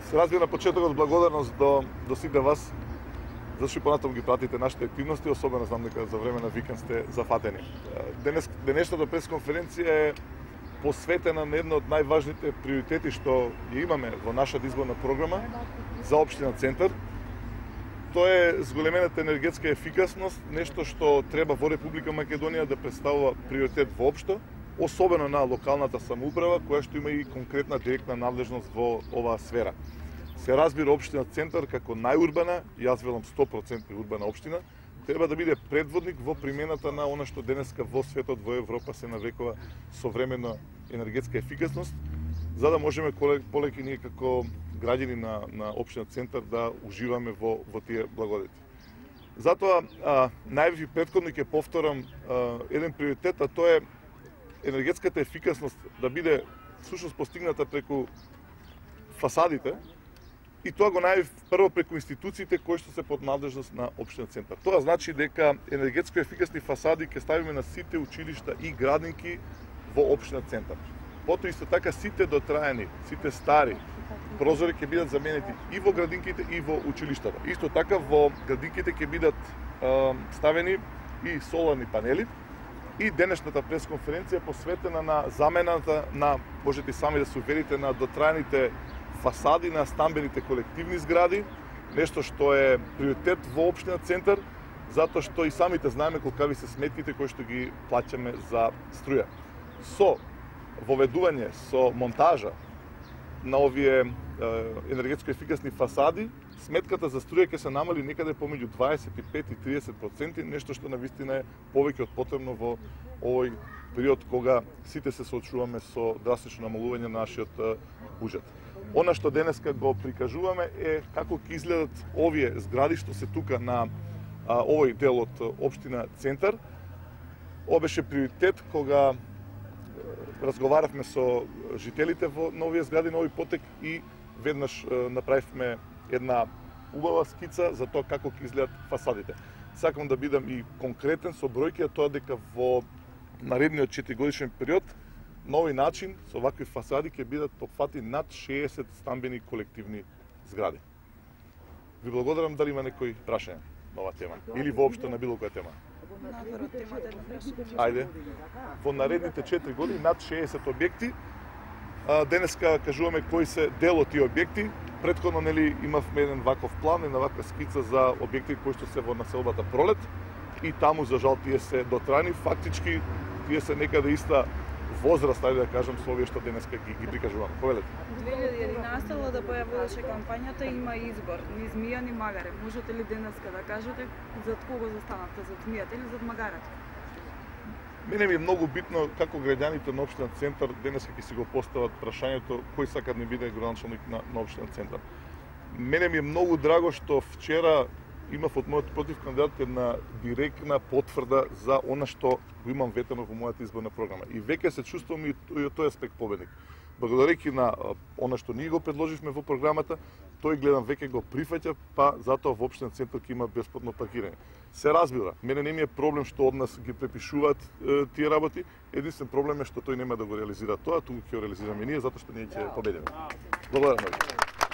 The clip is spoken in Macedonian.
Се разбира на почетокот благодарност до сите вас, зашто понатаму ги пратите нашите активности, особено знам дека за време на викенд сте зафатени. Денешната пресконференција е посветена на едно од најважните приоритети што ја имаме во нашата изборна програма за општина Центар. Тоа е зголемената енергетска ефикасност, нешто што треба во Република Македонија да представува приоритет воопшто, особено на локалната самоуправа, која што има и конкретна директна надлежност во оваа сфера. Се разбира општина Центар како најурбана, јас велам 100% урбана општина, треба да биде предводник во примената на она што денеска во светот, во Европа се нарекува современа енергетска ефикасност, за да можеме полеќе ние како граѓани на општина Центар да уживаме во тие благодети. Затоа најавив и претходно ќе повторам еден приоритет, а тоа е енергетската ефикасност да биде всушност постигната преку фасадите, и тоа го најавив прво преку институциите кои што се под надлежност на општина Центар. Тоа значи дека енергетско ефикасни фасади ќе ставиме на сите училишта и градинки во општина Центар. Потоа исто така сите дотраени, сите стари прозори ќе бидат заменети и во градинките и во училиштата. Исто така во градинките ќе бидат ставени и соларни панели. И денешната пресконференција посветена на замената на, можете сами да се уверите, на дотраените фасади на стамбените колективни згради, нешто што е приоритет во општина Центар, затоа што и самите знаеме колкави се сметките кои што ги плаќаме за струја. Со воведување, со монтажа на овие енергетско ефикасни фасади, сметката за струја ќе се намали некаде помеѓу 25 и 30%, нешто што навистина е повеќе од потребно во овој период кога сите се соочуваме со драстично намалување на нашиот буџет. Она што денеска го прикажуваме е како ќе изгледат овие згради што се тука на овој дел од општина Центар. Ова беше приоритет кога разговаравме со жителите на овие згради на овој потек и веднаш направивме една убава скица за тоа како ќе изгледат фасадите. Сакам да бидам и конкретен со бројки, а тоа дека во наредниот 4-годишен период на овој начин со вакви фасади ќе бидат опфати над 60 стамбени колективни згради. Ви благодарам, дали има некои прашања на оваа тема или воопшто на било која тема. Ајде. Во наредните 4 години над 60 објекти. Денеска кажуваме кои се дел од тие објекти. Претходно имавме еден ваков план, една ваква скица за објекти кои што се во населбата Пролет и таму за жал тие се дотрани. Фактички тие се некаде иста возраст, ајде да кажам, со овие што денеска ги прикажуваме. Повелете. 2011 да појавуваше кампањата има избор, ни Змија ни Магаре. Можете ли денеска да кажете зад кого застанавте, зад Змијата или зад Магарата? Мене ми е многу битно како граѓаните на општина Центар денеска ќе си го постават прашањето кој сака да не биде градоначалник на општина Центар. Мене ми е многу драго што вчера имав од мојот против кандидат една директна потврда за она што го имам ветено во мојата изборна програма. И веќе се чувствувам и од тој аспект победник. Благодарејќи на она што ние го предложивме во програмата, тој гледам веќе го прифаќа, па затоа во општина Центар ќе има бесплатно паркирање. Се разбира, мене не ми е проблем што од нас ги препишуваат тие работи, единствен проблем е што тој нема да го реализира тоа, туку ќе го реализираме ние затоа што ние ќе победиме. Благодарам.